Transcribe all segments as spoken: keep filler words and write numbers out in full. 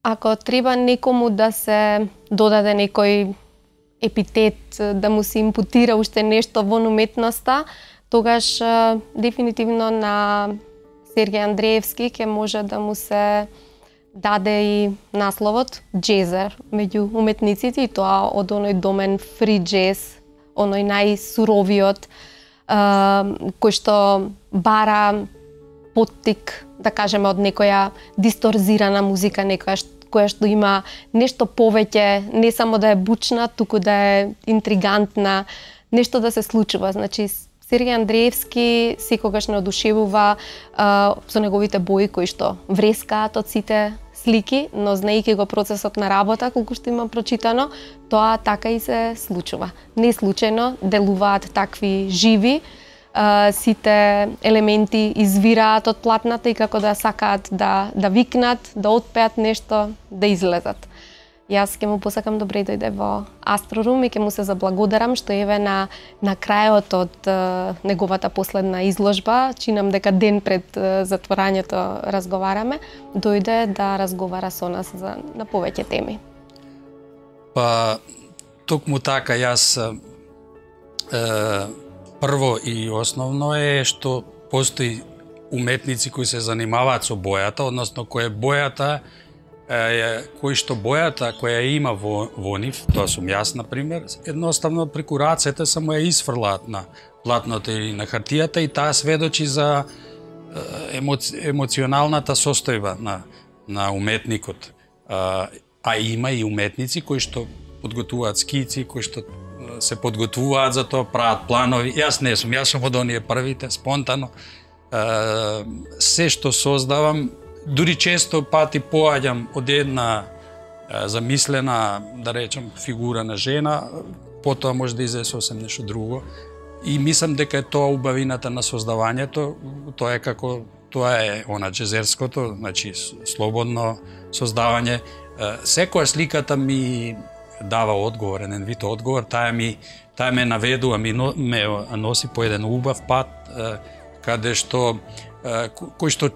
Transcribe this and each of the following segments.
Ако треба некому да се додаде некој епитет, да му се импутира уште нешто во уметноста, тогаш дефинитивно на Сергеј Андреевски ќе може да му се даде и насловот джезер меѓу уметниците, и тоа од оној домен фри джез, оној најсуровиот, кој што бара поттик, да кажеме, од некоја дисторзирана музика, некоја која што има нешто повеќе, не само да е бучна, туку да е интригантна, нешто да се случува. Значи, Сергеј Андреевски секогаш не одушевува а, со неговите бои кои што врескаат од сите слики, но знаејќи го процесот на работа, колку што има прочитано, тоа така и се случува. Не случајно делуваат такви живи, Uh, сите елементи извираат од платната и како да сакаат да, да викнат, да отпеат нешто, да излезат. Јас ќе му посакам добре дојде во Астрорум и ќе му се заблагодарам што еве на, на крајот од uh, неговата последна изложба, чинам дека ден пред uh, затворањето разговараме, дојде да разговара со нас за, на повеќе теми. Па, токму така, јас е, прво и основно е што постои уметници кои се занимаваат со бојата, односно која бојата, е, кој што бојата која има во, во нив, тоа сум јас, например, едноставно преку рацете само ја изфрлаат на платното или на хартијата и таа сведочи за емоци, емоционалната состојба на, на уметникот. А, а има и уметници кои што подготвуваат скици, кои што се подготвуваат за тоа, прават планови. Јас не сум, јас сум од оние првите, спонтано. Се што создавам, дури често пати поаѓам од една замислена, да речем, фигура на жена, потоа може да излезе сосем нешто друго. И мислам дека е тоа убавината на создавањето, тоа е како, тоа е она джезерското, значи слободно создавање. Секоја сликата ми дава одговор, еден вид одговор, таа ми таа ме наведува, ми но, ме носи по еден убав пат, каде што кој што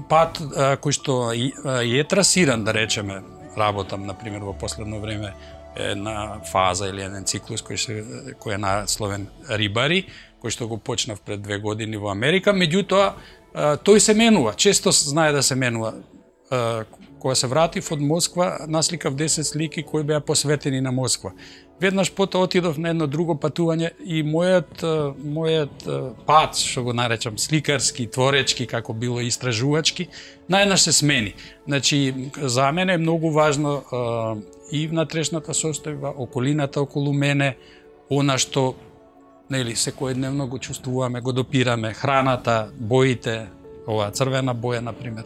пат кој што е трасиран, да речеме, работам на пример во последно време една фаза или еден циклус кој се кој е насловен Рибари, кој што го почнав пред две години во Америка, меѓутоа тој се менува, често знае да се менува. Кога се вратив од Москва, насликав десет слики кои беа посветени на Москва. Веднаш потоа отидов на едно друго патување и мојот мојот пат, што го наречам сликарски, творечки, како било истражувачки, најнаш се смени. Значи, за мене е многу важно и внатрешната состојба, околината околу мене, она што нели секојдневно го чувствуваме, го допираме, храната, боите, ова црвена боја на пример.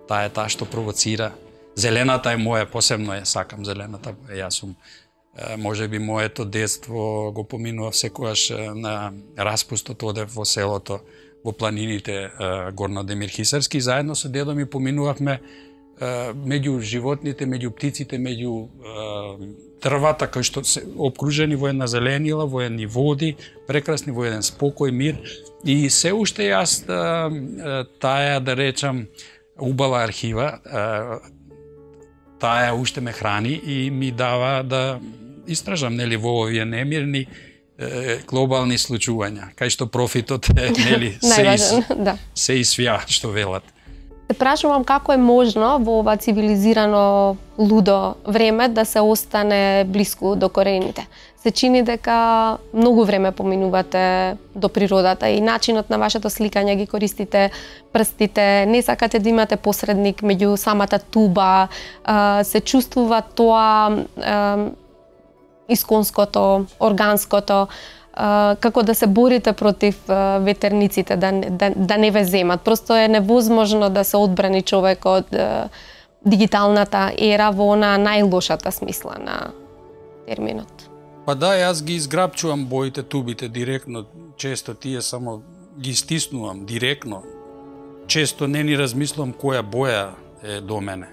Таа е таа што провоцира. Зелената е моја, посебно ја сакам зелената боја. Јас сум, може би моето детство го поминував секогаш на распустот, одев во селото, во планините Горно Демир Хисарски, заедно со дедо ми поминувавме меѓу животните, меѓу птиците, меѓу дрвата кои што се обкружени во една зеленила, во едни води, прекрасни, во еден спокој, мир. И се уште јас таа, да речам, убава архива, таа уште ме храни и ми дава да истражам нели во овие немирни глобални случувања, кај што профитот е нели се, из, да. се исвија, што велат. се прашувам како е можно во ова цивилизирано лудо време да се остане блиску до корените. Се чини дека многу време поминувате до природата и начинот на вашето сликање ги користите прстите, не сакате да имате посредник меѓу самата туба, се чувствува тоа исконското, органското, како да се борите против ветерниците, да, да, да не ве земат. Просто е невозможно да се одбрани човек од дигиталната ера во она најлошата смисла на терминот. Па да, јас ги изграбчувам боите, тубите директно, често тие само ги стиснувам директно. Често не ни размислувам која боја е до мене.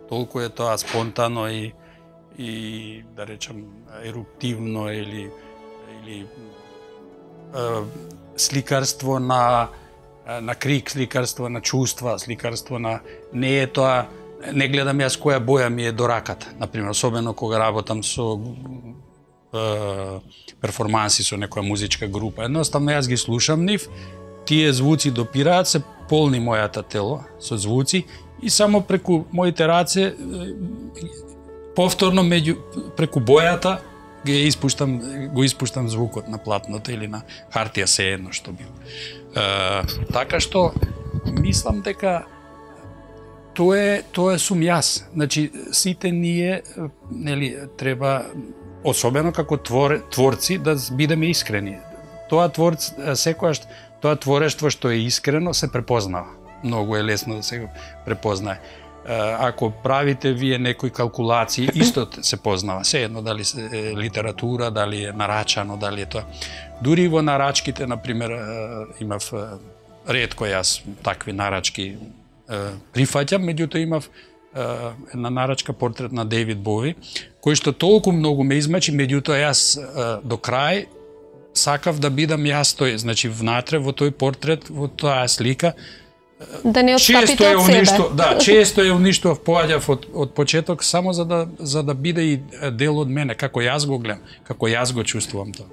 Толку е тоа спонтано и и да речам еруптивно или или е, сликарство на на крик, сликарство на чувства, сликарство на не е тоа, не гледам јас која боја ми е до раката, например, особено кога работам со е, перформанси со некоја музичка група. Едноставно јас ги слушам нив, тие звуци допираат, се полни мојата тело со звуци и само преку моите раце повторно меѓу преку бојата го испуштам го испуштам звукот на платното или на хартија, се едно што бил. Е, така што мислам дека тоа е тоа сум јас. Значи сите ние нели треба особено како твор, творци да бидеме искрени. Тоа творц секогаш тоа творештво што е искрено се препознава. Многу е лесно да се препознае. Ако правите вие некои калкулации, исто се познава. Се едно дали е литература, дали е нарачано, дали е тоа. Дури во нарачките, например, имав ретко јас такви нарачки прифаќам, меѓутоа имав една нарачка портрет на Дейвид Бови, кој што толку многу ме измачи, меѓутоа јас до крај сакав да бидам јас тој, значи внатре во тој портрет, во таа слика, да не отстапите од себе. Уништо, да, често е уништував, поаѓав од, од почеток само за да за да биде и дел од мене, како јас го гледам, како јас го чувствувам тоа.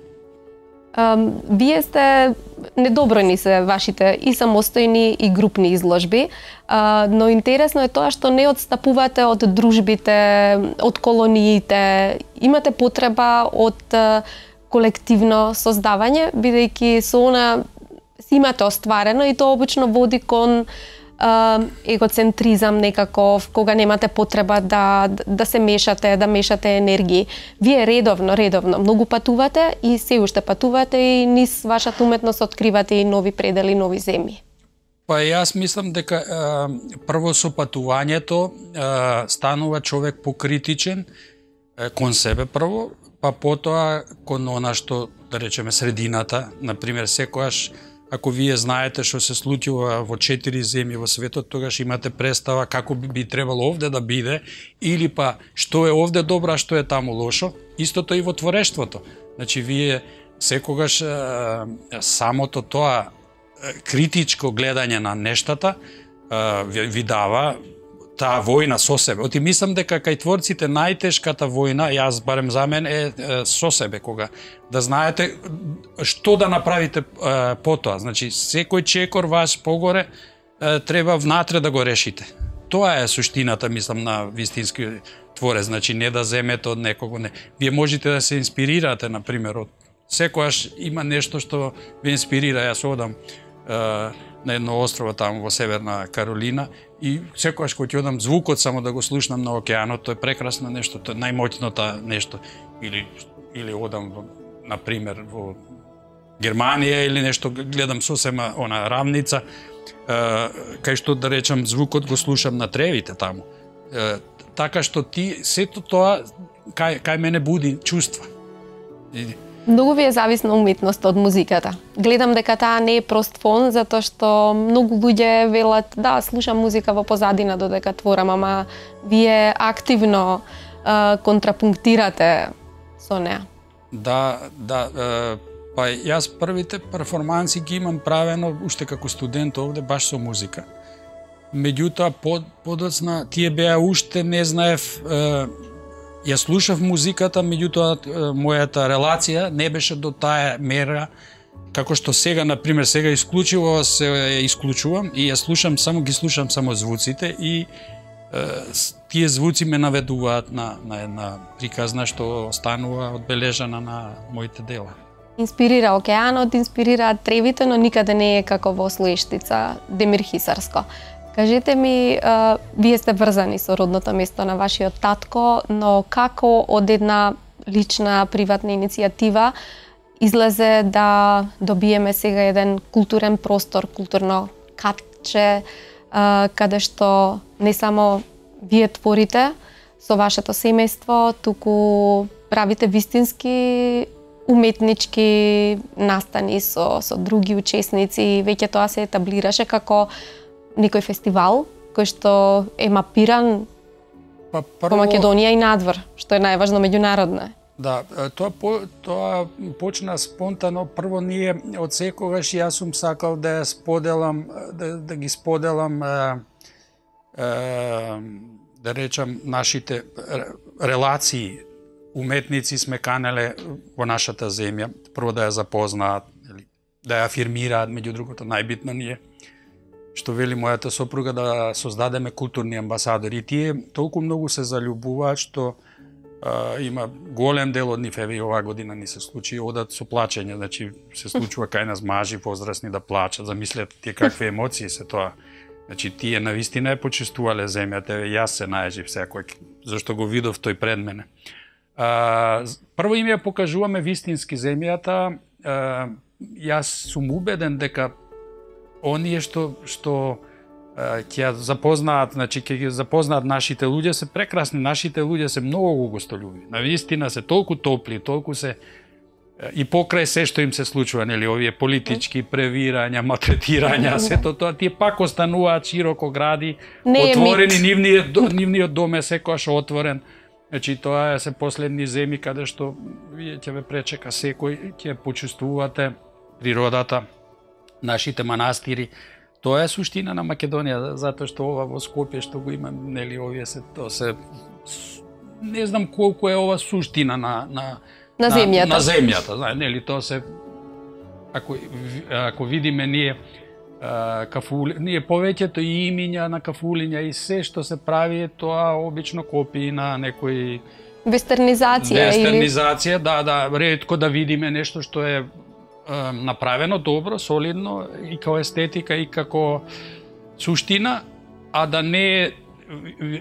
Um, вие сте недобројни се вашите и самостојни и групни изложби, uh, но интересно е тоа што не отстапувате од дружбите, од колониите, имате потреба од uh, колективно создавање, бидејќи со она си имате остварено и тоа обично води кон uh, егоцентризам некаков, кога немате потреба да, да се мешате, да мешате енергии. Вие редовно, редовно многу патувате и се уште патувате и низ вашата уметност откривате и нови предели, нови земји. Па јас мислам дека е, прво со патувањето е, станува човек покритичен е, кон себе прво, па потоа кон она што, да речеме, средината. Например, секојаш ако вие знаете што се случува во четири земји во светот, тогаш имате представа како би, би требало овде да биде, или па што е овде добро, а што е таму лошо. Истото и во творештвото. Значи, вие секогаш е, самото тоа критичко гледање на нештата е, ви дава таа војна со себе. Оти мислам дека кај творците најтешката војна, јас барем за мен, е, е со себе, кога да знаете што да направите е, потоа. Значи, секој чекор ваш погоре е, треба внатре да го решите. Тоа е суштината, мислам, на вистински творец. Значи, не да земете од некого. Не. Вие можете да се инспирирате, например, од секојаш има нешто што ви инспирира. Јас одам е, на едно острово таму во Северна Каролина и секогаш кога ќе одам звукот само да го слушнам на океанот, тоа е прекрасно нешто, тоа е најмоќното нешто. Или или одам во, на пример во Германија или нешто, гледам сосема она рамница, е, кај што да речам звукот го слушам на тревите таму. Е, така што ти сето тоа кај кај мене буди чувства. И, многу ви е зависна уметноста од музиката. Гледам дека таа не е прост фон, затоа што многу луѓе велат да, слушам музика во позадина додека творам, ама вие активно е, контрапунктирате со неа. Да, да, е, па јас првите перформанси ги имам правено уште како студент овде баш со музика. Меѓутоа под, подоцна тие беа уште не знаев, е, ја слушав музиката, меѓутоа мојата релација не беше до таа мера како што сега, на пример, сега исклучиво се исклучувам и ја слушам, само ги слушам само звуците и тие звуци ме наведуваат на, на една приказна што останува одбележана на моите дела. Инспирира океанот, инспирираат тревите, но никаде не е како во Слоештица, Демир Хисарско. Кажете ми, а, вие сте врзани со родното место на вашиот татко, но како од една лична, приватна иницијатива излезе да добиеме сега еден културен простор, културно катче, а, каде што не само вие творите со вашето семејство, туку правите вистински уметнички настани со, со други учесници, веќе тоа се етаблираше како некој фестивал кој што е мапиран па, прво... по Македонија и надвор, што е најважно меѓународно. Да, тоа по, тоа почна спонтано. Прво ние од секогаш јас сум сакал да ја споделам, да, да ги споделам е, е, да речам нашите релации. Уметници сме канеле во нашата земја, прво да ја запознаат, да ја афирмираат, меѓу другото најбитно ние, што вели мојата сопруга, да создадеме културни амбасадори. И тие толку многу се заљубуваат што а, има голем дел од нив, еве и оваа година ни се случи, одат со плачење, значи се случува кај нас мажи возрастни да плачат, замислете тие какви емоции се тоа. Значи тие навистина е почувствувале земјата, еве јас се најажив секој, зашто го видов тој пред мене. А, прво им ја покажуваме вистински земјата. А, јас сум убеден дека оние што што ќе ја запознаат, значи ќе ги запознаат нашите луѓе се прекрасни, нашите луѓе се многу гостолюбиви. Навистина се толку топли, толку се и покрај се што им се случува, нели, овие политички превирања, малтретирања, сето тоа тие пак остануваат широко гради, отворени, нивниот нивниот дом е секогаш отворен. Значи тоа се последни земи каде што вие ќе ве пречека секој, ќе почувствувате природата, нашите манастири. Тоа е суштина на Македонија, затоа што ова во Скопје што го има, нели, овие се тоа се не знам колку е ова суштина на на на земјата. На, на земјата, знаеш, нели, тоа се ако ако видиме ние кафули, ние повеќето и имиња на кафулиња и се што се прави, тоа обично копии на некој вестернизација. Вестернизација, или... да, да, ретко да видиме нешто што е, е направено добро, солидно и како естетика и како суштина, а да не е,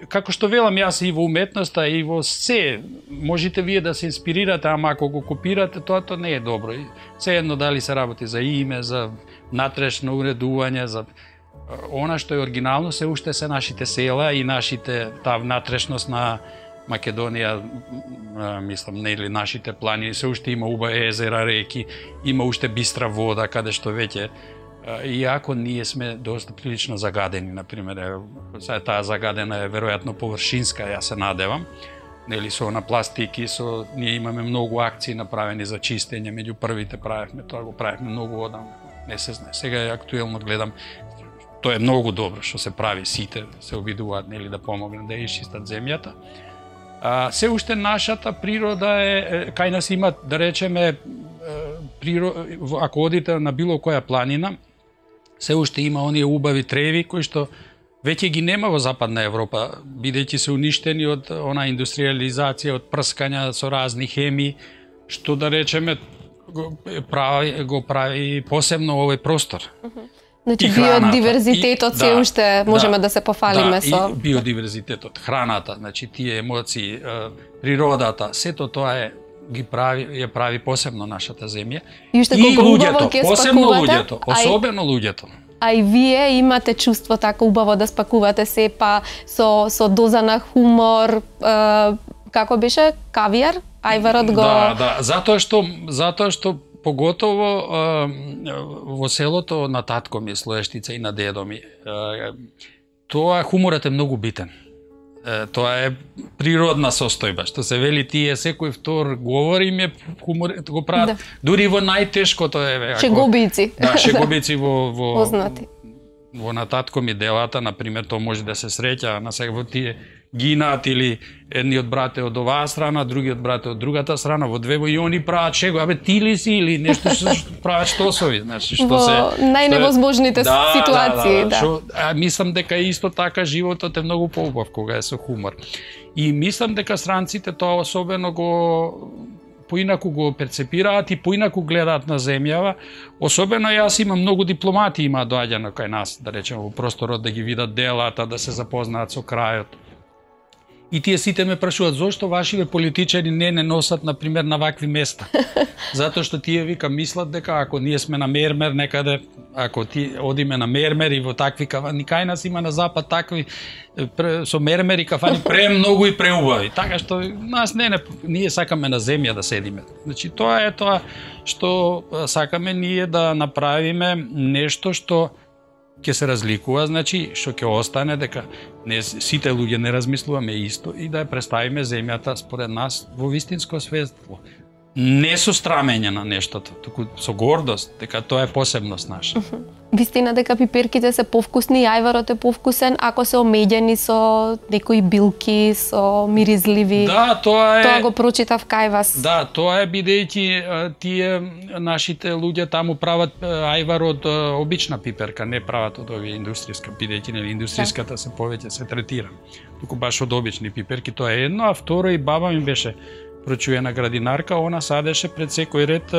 како што велам јас, и во уметноста и во се, можете вие да се инспирирате, ама ако го копирате, тоа тоа не е добро. Се едно дали се работи за име, за натрешно уредување, за она што е оригинално, се уште се нашите села и нашите, таа натрешност на Македонија, мислам, нели, нашите планини, се уште има убави езера, реки, има уште бистра вода, каде што веќе, иако ние сме доста прилично загадени, например, таа загадена е веројатно површинска, јас се надевам, нели, со на пластики, со ние имаме многу акции направени за чистење, меѓу првите правевме, тоа го правевме многу одамна. Не се знае. Сега е актуелно гледам, тоа е многу добро што се прави, сите се обидуваат, нели, да помогнат да исчистат земјата. А, се уште нашата природа е, кај нас има, да речеме, природа, ако одите на било која планина, се уште има оние убави треви кои што веќе ги нема во Западна Европа, бидејќи се уништени од она индустриализација, од прскања со разни хемии, што, да речеме, го прави, го прави посебно овој простор. Значи биодиверзитетот се уште можеме да, да се пофалиме да, со... и биодиверзитетот, храната, значи тие емоции, природата, сето тоа е ги прави, ја прави посебно нашата земја. И уште колку убаво ќе спакувате, посебно луѓето, особено луѓето. А и вие имате чувство така убаво да спакувате се, па со со доза на хумор, е, како беше, кавијар, ајварот го... Да, да, затоа што затоа што поготово е, во селото на татко ми, Слоештица, и на дедо ми, е, тоа хуморот е многу битен. Е, тоа е природна состојба, што се вели тие секој втор говори ми хумор го прават, да. Дури во најтешкото е шегобици. Да, шегобици во во познати. Во на татко ми делата, на пример, тоа може да се среќа на сега во тие гинаат или едниот брат е од оваа страна, другиот брат е од другата страна, во две и они прават чего, абе ти ли си или нешто што прават штосови, значи што се најневозможните да, ситуации, да. да, да. Шо, а мислам дека исто така животот е многу поубав кога е со хумор. И мислам дека странците тоа особено го поинаку го перцепираат и поинаку гледаат на земјава. Особено јас имам многу дипломати има доаѓано кај нас, да речеме, во просторот да ги видат делата, да се запознаат со крајот. И тие сите ме прашуваат зошто вашиве политичари не не носат на пример на вакви места. Затоа што тие вика мислат дека ако ние сме на мермер некаде, ако ти одиме на мермер и во такви кафани, кај нас има на запад такви со мермери кафани премногу и преубави. Така што нас не, не ние сакаме на земја да седиме. Значи тоа е тоа што сакаме ние да направиме нешто што ќе се разликува, значи што ќе остане дека не сите луѓе не размислуваме исто и да ја представиме земјата според нас во вистинско светло. Не со страмење на нештото, туку со гордост дека тоа е посебност наша. Вистина дека пиперките се повкусни, јајварот е повкусен ако се омеѓени со некои билки, со миризливи. Да, тоа е. Тоа го прочитав кај вас. Да, тоа е бидејќи тие нашите луѓе таму прават ајвар од обична пиперка, не прават од овие индустријска, бидејќи нели индустријската се повеќе се третира. Туку баш од обични пиперки, тоа е едно, а второ и баба ми беше прочуена градинарка, она садеше пред секој ред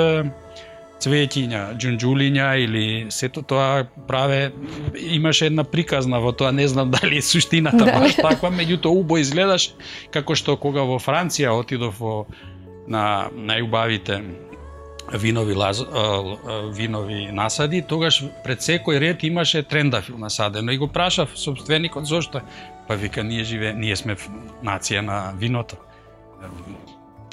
цветиња, џунџулиња или сето тоа праве, имаше една приказна во тоа, не знам дали е суштината да. Баш таква, меѓутоа убо изгледаш како што кога во Франција отидов во на најубавите винови лаз, винови насади, тогаш пред секој ред имаше трендафил насадено и го прашав собственикот зошто, па вика ние живе, ние сме нација на виното.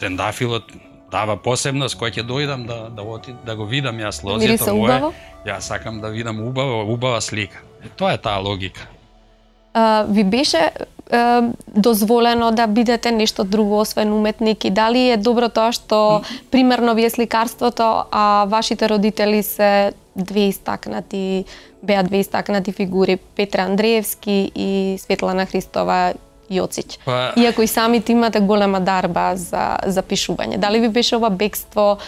Трендафилот дава посебност, кој ќе дојдам да да оти, да го видам јас лозето мое. Јас сакам да видам убава, убава слика. Е, тоа е таа логика. А, ви беше а, дозволено да бидете нешто друго освен уметник и дали е добро тоа што примерно вие сликарството, а вашите родители се две истакнати, беа две истакнати фигури, Петре Андреевски и Светлана Христова Јоцич. Па... Иако и самите имате голема дарба за за пишување. Дали ви беше ова бегство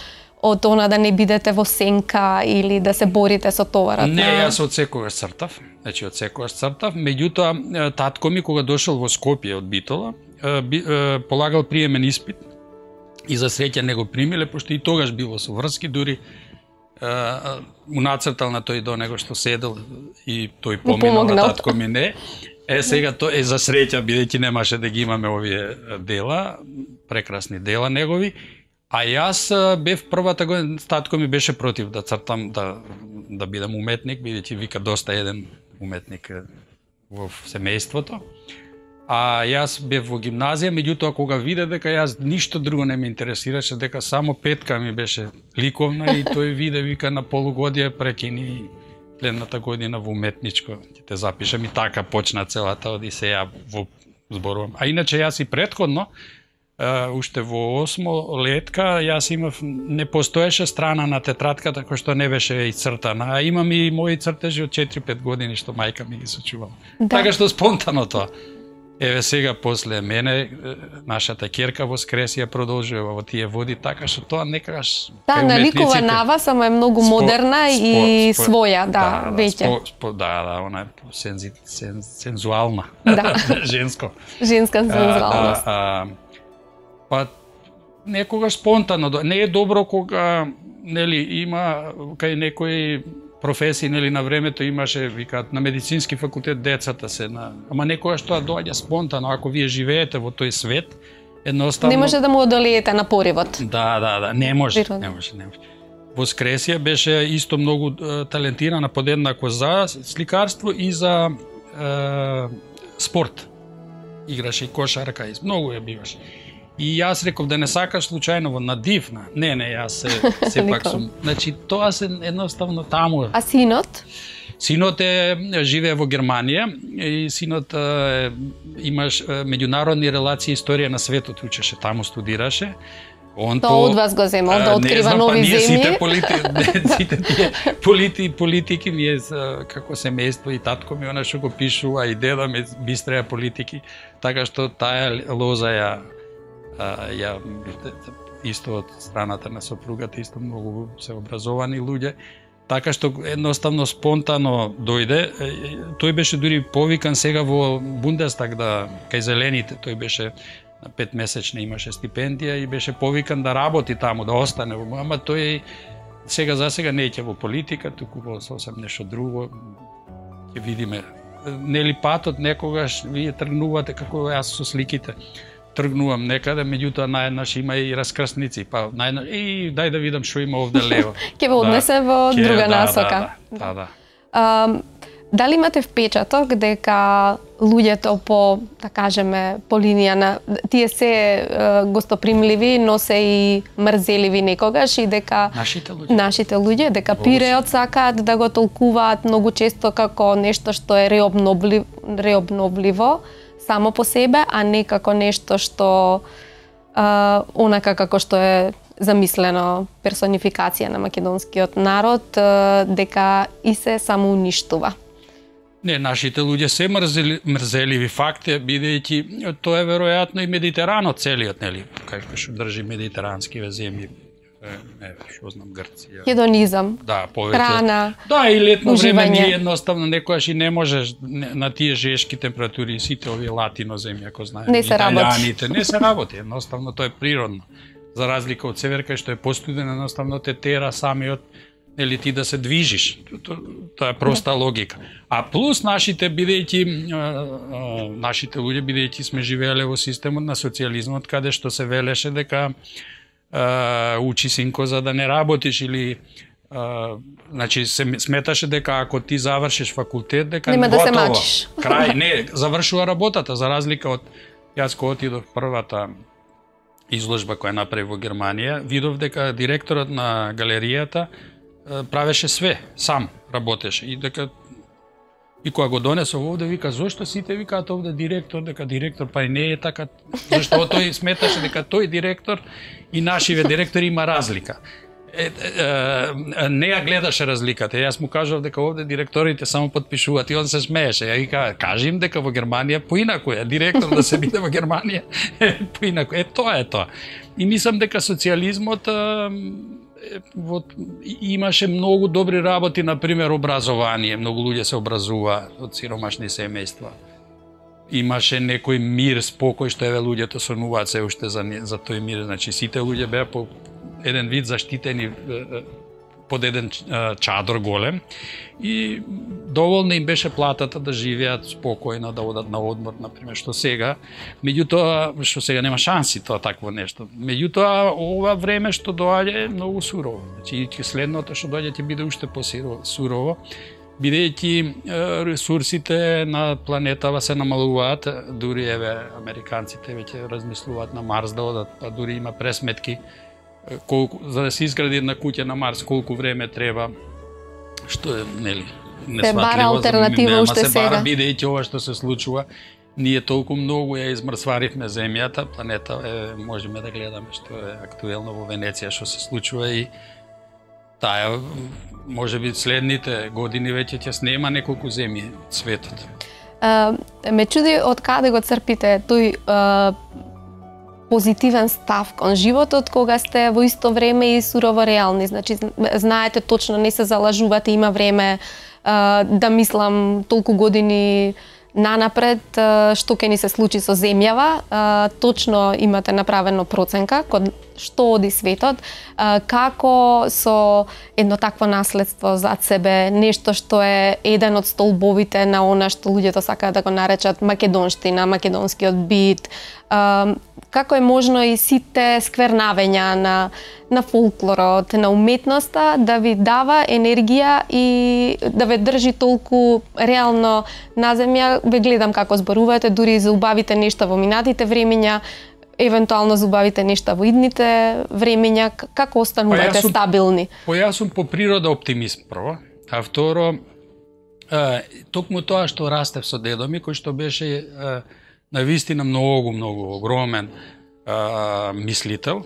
од она да не бидете во сенка или да се борите со товарот? Не, јас од секогаш цртав. Значи од секогаш цртав. Меѓутоа татко ми кога дошол во Скопје од Битола, полагал приемен испит и за среќа не го примиле, пошто и тогаш било со врски, дури му нацртал на тој до него што седел и тој поминал на татко ми не. Е, сега тоа е за среќа, бидејќи немаше да ги имаме овие дела, прекрасни дела негови, а јас бев првата година, татко ми беше против да цртам, да, да бидам уметник, бидејќи вика доста еден уметник во семејството. А јас бев во гимназија, меѓутоа кога виде дека јас ништо друго не ме интересираше, дека само петка ми беше ликовна и тој виде, вика на полугодие прекини следната година во уметничко, ќе те запишам и така почна целата одисеја во зборувам. А иначе јас и претходно, уште во осмо летка, јас имав, не постоеше страна на тетратката која што не беше ицртана, а имам и мои цртежи од четири-пет години што мајка ми ги сочувала. Да. Така што спонтано тоа. Еве сега после мене нашата ќерка воскресија продолжува во тие води, така што тоа некогаш да, наликува на вас, ама е многу спо, модерна спо, и спо, своја, да, да веќе. Да, спо, да, да, она е сензи, сен, сензуална. Да. Женско. Женска сензуалност. Да, а, па некогаш спонтано, не е добро кога нели има кај некои професии, нели на времето имаше, викаат, на медицински факултет децата се на, ама некогаш тоа доаѓа спонтано, ако вие живеете во тој свет, едноставно не може да му одолеете на поривот. Да, да, да, не може, не може, не може. Воскресија беше исто многу е, талентирана подеднако за сликарство и за е, спорт. Играше и кошарка, и многу ја биваше. И јас реков да не сакаш случајно во надивна. Не, не, јас се, сепак сум. Значи, тоа се едноставно таму. А синот? Синот е живее во Германија и синот е, имаш меѓународни релации, историја на светот учеше, таму студираше. Он Тоа од вас го зема, да открива знам, нови па, ние земји. Сите полити, сите тие полити, политики ние како семејство и татко ми она што го пишува и деда ми бистреа политики, така што таа лоза ја ја исто од страната на сопругата, исто многу се образовани луѓе, така што едноставно спонтано дојде. Тој беше дури повикан сега во Бундестаг да кај зелените, тој беше на петмесечна имаше стипендија и беше повикан да работи таму, да остане, ама тој сега за сега не ќе во политика, туку во сосем нешто друго. Ќе видиме. Нели патот некогаш вие тргнувате како јас со сликите. Тргнувам некаде, меѓутоа наеднаш има и раскрсници, па наеднаш и дај да видам што има овде лево. Ќе ве однесе да, во ке, друга да, насока. Да, да, да. Um, дали имате впечаток дека луѓето по, да кажеме, по линија на тие се uh, гостопримливи, но се и мрзеливи некогаш и дека нашите луѓе, нашите луѓе дека пиреот сакаат да го толкуваат многу често како нешто што е реобновливо, реобновливо само по себе, а не како нешто што а, онака како што е замислено персонификација на македонскиот народ, а, дека и се самоуништува. Не, нашите луѓе се мрзели, мрзеливи, факт е, бидејќи тоа е веројатно и Медитеранот целиот, нели, како што држи медитеранскиве земји. Не, што знам, Грција. Хедонизам, да, повеќе. Храна, Да, и летно уживање. време ние едноставно некојаш и не можеш на тие жешки температури, сите овие латино земји, ако знаеме, не се италијаните, не се работи, едноставно тоа е природно. За разлика од северка што е постуден, едноставно те тера самиот, нели ти да се движиш. Тоа е проста логика. А плюс нашите бидејќи нашите луѓе бидејќи сме живееле во системот на социјализмот, каде што се велеше дека Uh, учи синко за да не работиш или uh, значи се сметаше дека ако ти завршиш факултет дека нема да готово, се мачиш. Крај, не, завршува работата, за разлика од јас кога отидов првата изложба која направи во Германија, видов дека директорот на галеријата uh, правеше све, сам работеше и дека и кога го донесов овде, вика, зошто сите викаат овде директор, дека директор, па и не е така, зашто тој сметаше дека тој директор и нашиве директори има разлика. Е, е, не ја гледаше разликата. Јас му кажав дека овде директорите само подпишуваат и он се смееше. Ја вика, кажи им дека во Германија поинаку е, директор да се биде во Германија поинаку. Е, тоа е тоа. И мислам дека социјализмот вот, имаше многу добри работи, например образование, многу луѓе се образува од сиромашни семејства. Имаше некој мир, спокој што еве луѓето сонуваат се уште за за тој мир, значи сите луѓе беа по еден вид заштитени под еден чадор голем и доволно им беше платата да живеат спокојно, да одат на одмор, например, што сега, меѓутоа, што сега нема шанси тоа такво нешто. Меѓутоа, ова време што доаѓа е многу сурово. Значи, следното што доаѓа ќе биде уште посурово, бидејќи ресурсите на планетава се намалуваат, дури еве американците веќе размислуваат на Марс да одат, па дури има пресметки колку за да се изгради една куќа на Марс, колку време треба, што е, нели, несватливо. Се бара алтернатива уште се бара, сега. бидејќи ова што се случува, ние толку многу ја измрсваривме земјата, планета е, можеме да гледаме што е актуелно во Венеција што се случува и таа може би следните години веќе ќе снема неколку земји светот. Uh, ме чуди од каде го црпите тој uh, позитивен став кон животот кога сте во исто време и сурово реални. Значи, знаете точно, не се залажувате, има време uh, да мислам толку години нанапред uh, што ќе ни се случи со земјава. Uh, точно имате направено проценка кон што оди светот, uh, како со едно такво наследство зад себе, нешто што е еден од столбовите на она што луѓето сакаат да го наречат македонштина, македонскиот бит, uh, како е можно и сите сквернавења на, на фолклорот, на уметноста да ви дава енергија и да ве држи толку реално на земја. Ве гледам како зборувате, дури за убавите нешта во минатите времења, евентуално за убавите нешта во идните времења, како останувате па сум, стабилни? Па јас сум по природа оптимист прво, а второ, е, токму тоа што растев со дедо ми, кој што беше е, навистина многу, многу огромен а, мислител,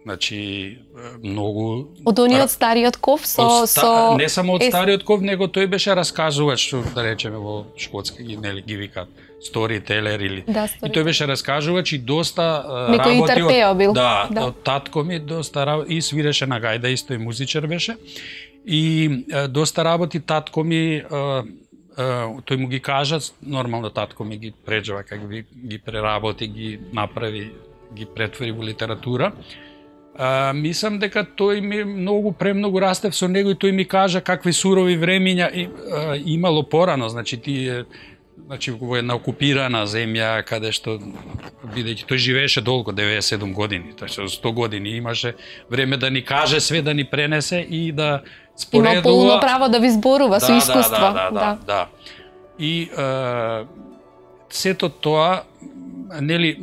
Значи, многу... Од ониот стариот ков со... со... Не само од стариот ков, него тој беше раскажувач, што да речеме во шкотски, нели, ги викаат storyteller или... Да, и тој беше раскажувач и доста Некој работи интерпео бил. Да, да, од татко ми доста работи, и свиреше на гајда, исто и музичар беше. И доста работи татко ми, тој му ги кажа, нормално татко ми ги преджава, како ги, ги преработи, ги направи, ги претвори во литература. А, мислам дека тој ми многу премногу растев со него и тој ми кажа какви сурови времиња и, а, имало порано, значи тие, значи во една окупирана земја каде што бидејќи тој живееше долго, деветдесет и седум години, така сто години имаше време да ни каже све, да ни пренесе и да споредува. Има полно право да ви зборува да, со искуство. Да, да, да, да, да. И а, сето тоа, нели,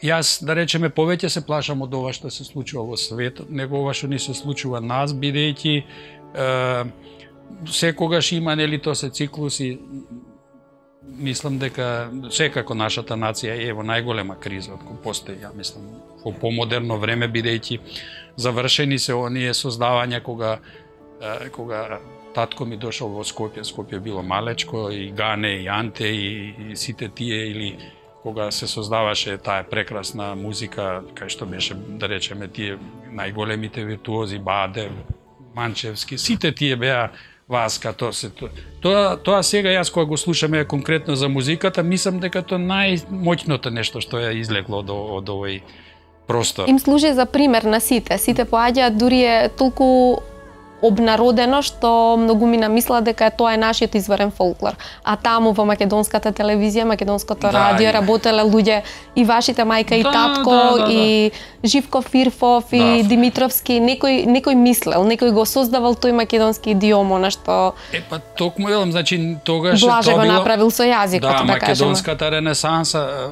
јас, да речеме, повеќе се плашам од ова што се случува во светот, него ова што ни се случува нас, бидејќи е, секогаш има, нели, тоа се циклуси. Мислам дека секако нашата нација е во најголема криза од која постои, ја мислам, во помодерно време, бидејќи завршени се оние создавања кога е, кога татко ми дошол во Скопје, Скопје било малечко, и Гане, и Анте, и, и сите тие, или кога се создаваше таа прекрасна музика, кај што беше, да речеме, тие најголемите виртуози, Баде, Манчевски, сите тие беа Васка, тоа се тоа. Тоа сега јас кога го слушаме конкретно за музиката, мислам дека тоа најмоќното нешто што е излегло од, од овој простор. Им служи за пример на сите. Сите поаѓаат, дури е толку обнародено што многумина мислат дека тоа е нашиот изворен фолклор. А таму во македонската телевизија, македонското да, радио работеле луѓе и вашите мајка и да, татко да, да, и Живко Фирфов и да. Димитровски, некој некој мислел, некој го создавал тој македонски идиом, на што Е па токму велам, значи тогаш Блаже тоа го било направил со јазикот, да, да, кажеме. македонската ренесанса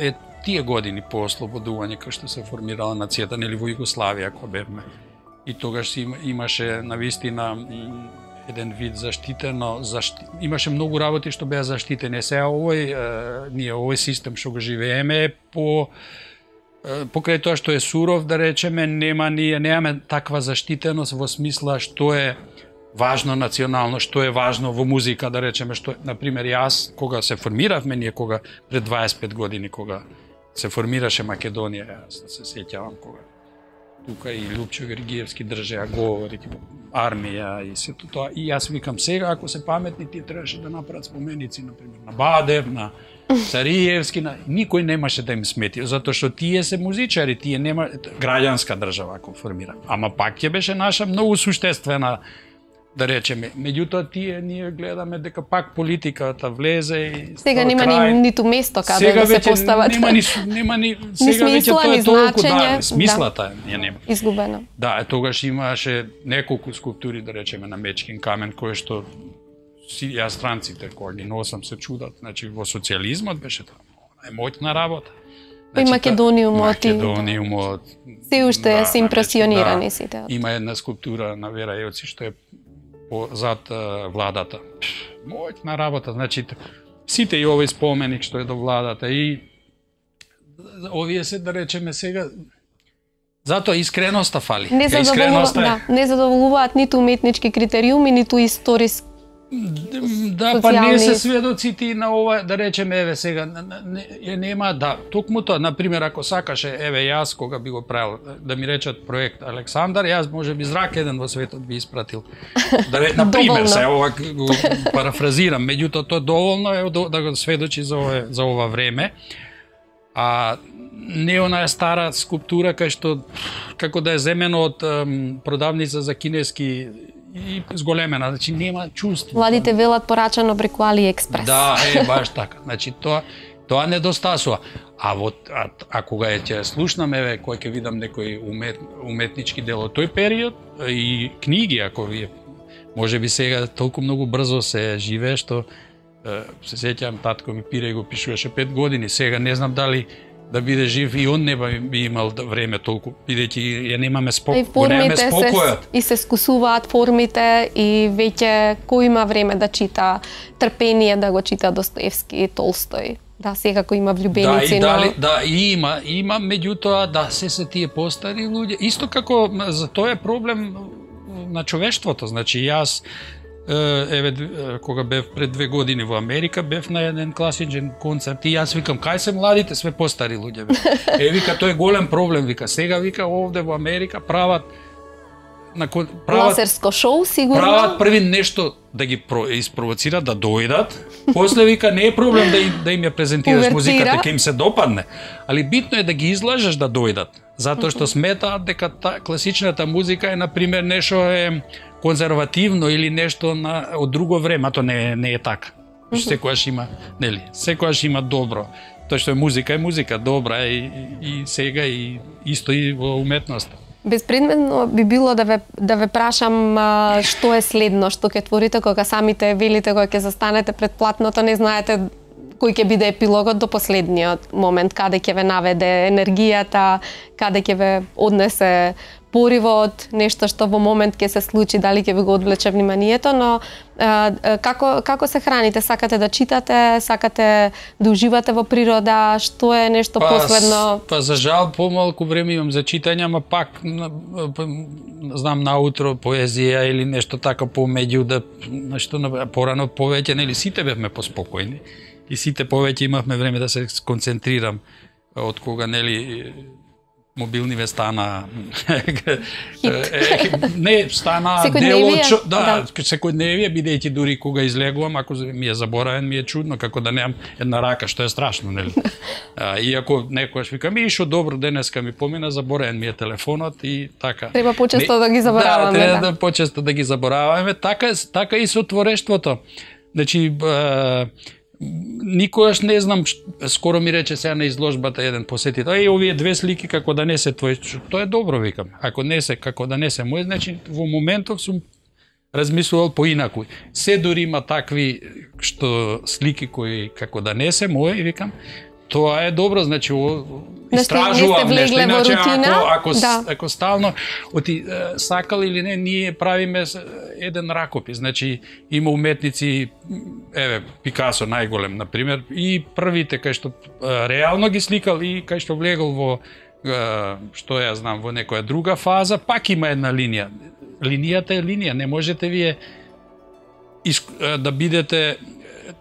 е тие години по ослободување кај што се формирала нацијата, нели во Југославија кога бевме. И тогаш имаше навистина еден вид заштитено, защи... имаше многу работи што беа заштитени. Сега овој е, ние овој систем што го живееме по покрај тоа што е суров, да речеме, нема ние немаме таква заштитеност во смисла што е важно национално, што е важно во музика, да речеме, што на пример јас кога се формиравме ние кога пред дваесет и пет години кога се формираше Македонија, јас се сеќавам кога тука и Лупчо Гергиевски држеа говори, армија и сето тоа. И јас викам сега, ако се паметни, тие требаше да направат споменици, например, на Бадев, на Цариевски, на... никој немаше да им смети, затоа што тие се музичари, тие нема граѓанска држава ако формира. Ама пак ќе беше наша многу суштествена, да речеме. Меѓутоа тие ние гледаме дека пак политиката влезе и сега нема ни ниту место каде да се постават. Нема ни нема ни сега веќе тоа е толку да, смислата ја да, нема. Изгубено. Да, е тогаш имаше неколку скулптури, да речеме, на Мечкин камен кои што си ја странците кога ги носам се чудат, значи во социјализмот беше тоа најмоќна работа. Значи, и Македониумот и Македониумот. Се уште да, се импресионирани да, сите. Има една скулптура на Вера Јоци што е по зад uh, владата. Моќна работа, значи сите и овој споменик што е до владата и овие се, да речеме сега, затоа искреноста фали. Не задоволуваат, да, не задоволуваат ниту уметнички критериуми, ниту историски. Да, па не се сведоците на ова, да речеме, еве сега, не, нема, да, токму тоа, например, ако сакаше, еве јас, кога би го правил, да ми речат проект Александар, јас може би зрак еден во светот би испратил. Да, например, се, ова го парафразирам, меѓутоа тоа доволно е да го сведочи за ова, за ова време, а не онаа стара скулптура кај што, како да е земено од ем, продавница за кинески и зголемена, значи нема чувство. Владите велат порачано преку AliExpress. Да, е баш така. Значи тоа тоа недостасува. А во а, а кога е ќе слушнаме, еве кој ќе видам некој умет, уметнички дел од тој период и книги, ако вие можеби сега толку многу брзо се живее што се сеќавам татко ми пире и го пишуваше пет години, сега не знам дали да биде жив и он не би имал време толку, бидејќи ја немаме спокој, немаме спокојот. И се скусуваат формите и веќе кој има време да чита, трпение да го чита Достоевски, Толстој. Да, секако има Да, влюбеници, и но... дали, да, и има, има, меѓутоа, да, се се тие постари луѓе. Исто како за тоа е проблем на човештвото. Значи, јас, еве, кога бев пред две години во Америка, бев на еден класичен концерт и јас викам, кај се младите, све постари луѓе, бе. Е, вика, тоа е голем проблем, вика. Сега, вика, овде во Америка прават на прават лазерско шоу, сигурно. Прават први нешто да ги испровоцират да дојдат. После вика не е проблем да им, да им ја презентираш музиката, ќе им се допадне, али битно е да ги излажеш да дојдат, затоа што сметаат дека та класичната музика е на пример нешто е конзервативно или нешто на од друго време, а тоа не не е така. Секогаш има, нели, секогаш има добро. Тоа што е музика е музика, добра е и, и сега и исто и во уметноста. Безпредметно би било да ве да ве прашам а, што е следно, што ќе творите кога самите велите, кога ќе застанете пред платното, не знаете кој ќе биде епилогот до последниот момент, каде ќе ве наведе енергијата, каде ќе ве однесе поривот, нешто што во момент ќе се случи, дали ќе ви го одвлече вниманието, но а, како како се храните? Сакате да читате, сакате да уживате во природа, што е нешто па, последно? Па за жал помалку време имам за читање, ама пак знам наутро поезија или нешто така помеѓу да нешто порано повеќе, нели сите бевме поспокојни и сите повеќе имавме време да се концентрирам од кога нели мобилниве стана не стана дел од да, секојдневие, бидејќи дури кога излегувам, ако ми е заборавен, ми е чудно како да немам една рака, што е страшно, нели? А, иако некојаш викам, ишо добро денеска ми помина, заборавен ми е телефонот и така. Треба почесто не, да ги забораваме. Да, треба да, да почесто да ги забораваме, така така и со творештвото. Значи никогаш не знам, скоро ми рече сега на изложбата еден посетител, еј, овие две слики како да не се твои, тоа е добро, викам. Ако не се, како да не се мој, значи во моментов сум размислувал поинаку. Се дури има такви што слики кои како да не се мои, викам, тоа е добро, значи истражувам нешто, иначе ако, ако, да. ако стално, оти, сакал или не, ние правиме еден ракопис, значи има уметници, еве, Пикасо најголем, например, и првите кај што реално ги сликал и кај што влегол во, што ја знам, во некоја друга фаза, пак има една линија. Линијата е линија, не можете вие да бидете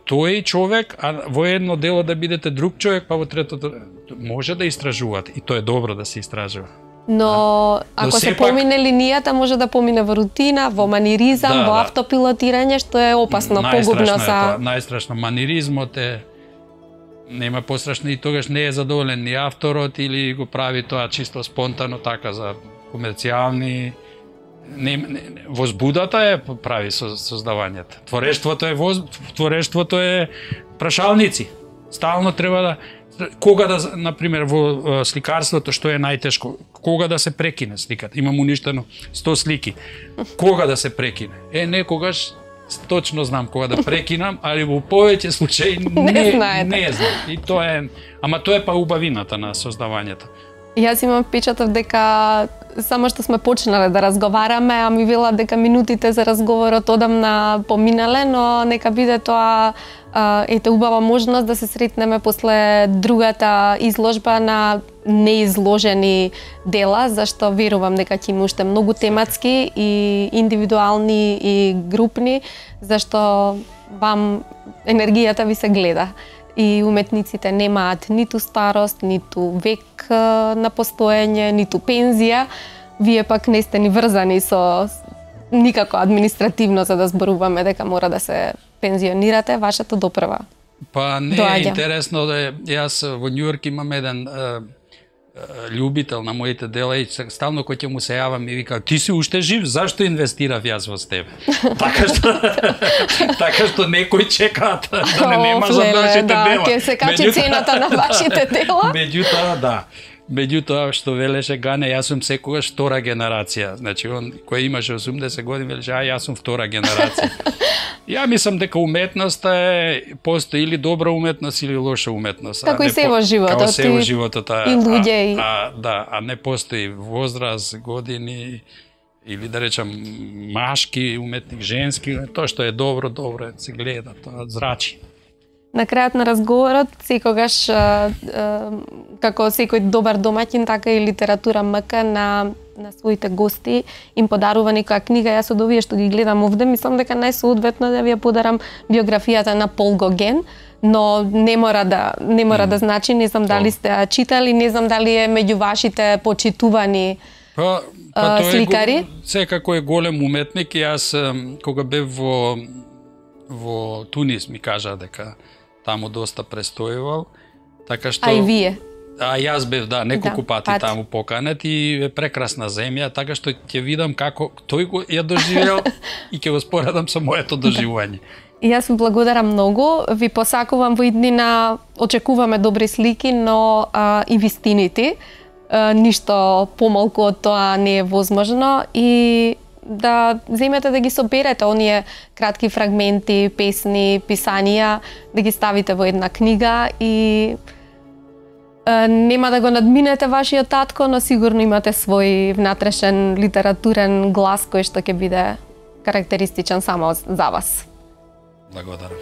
тој човек, а во едно дело да бидете друг човек, па во третото може да истражувате и тоа е добро да се истражува. Но ако Но се пак... помине линијата, може да помине во рутина, во маниризам, да, во да. автопилотирање, што е опасно, погубно за... Најстрашно, маниризмот е нема пострашно и тогаш не е задоволен ни авторот или го прави тоа чисто спонтано така за комерцијални. Не, не, возбудата е прави со создавањето. Творештвото е воз, творештвото е прашалници. Стално треба да кога да, например, во сликарството што е најтешко, кога да се прекине сликата. Имам уништено сто слики. Кога да се прекине? Е, некогаш точно знам кога да прекинам, али во повеќе случаи не, не, не знам. И тоа е, ама тоа е па убавината на создавањето. Јас имам впечаток дека само што сме почнале да разговараме, а ми вела дека минутите за разговорот одамна поминале, но нека биде тоа ете убава можност да се сретнеме после другата изложба на неизложени дела, зашто верувам дека ќе има уште многу тематски и индивидуални и групни, зашто вам енергијата ви се гледа. И уметниците немаат ниту старост, ниту век на постоење, ниту пензија. Вие пак не сте ни врзани со никако административно за да зборуваме дека мора да се пензионирате, вашето допрва. Па не е интересно да е, јас во Њујорк имам еден е, љубител на моите дела и стално кој ќе му се јавам и вика, ти си уште жив, зашто инвестирав јас во тебе? Така што така што некој чека да не нема за вашите да, дела. Ќе се качи цената на вашите дела. Меѓутоа, да. Меѓутоа, што велеше Гане, јас сум секогаш втора генерација. Значи, он кој имаше осумдесет години, велеше, а јас сум втора генерација. Ја мислам дека уметноста е, постои или добра уметност или лоша уметност. Како и се во животот. Како се во животот. И луѓе. А, а, да, а не постои возраст, години, или да речам машки уметник, женски, тоа што е добро, добро се гледа, тоа зрачи. на крајот на разговорот, секогаш а, а, како секој добар домаќин, така и литература МК на на своите гости им подарува некоја книга. Јас од овие што ги гледам овде, мислам дека најсоодветно да ви ја подарам биографијата на Пол Гоген, но не мора да не мора mm. да значи, не знам дали сте ја читали, не знам дали е меѓу вашите почитувани па, па тој сликари. Е, секако е голем уметник и јас кога бев во во Тунис ми кажа дека таму доста престојувал, така што А и вие? А јас бев, да, неколку да, пати пати. таму поканет и е прекрасна земја, така што ќе видам како тој го ја доживеал и ќе го споредам со моето доживување. И јас ви благодарам многу, ви посакувам во иднина, очекуваме добри слики, но а, и вистините, а, ништо помалку од тоа не е возможно и да земете да ги соберете оние кратки фрагменти, песни, писанија, да ги ставите во една книга и нема да го надминете вашиот татко, но сигурно имате свој внатрешен литературен глас кој што ќе биде карактеристичен само за вас. Благодарам.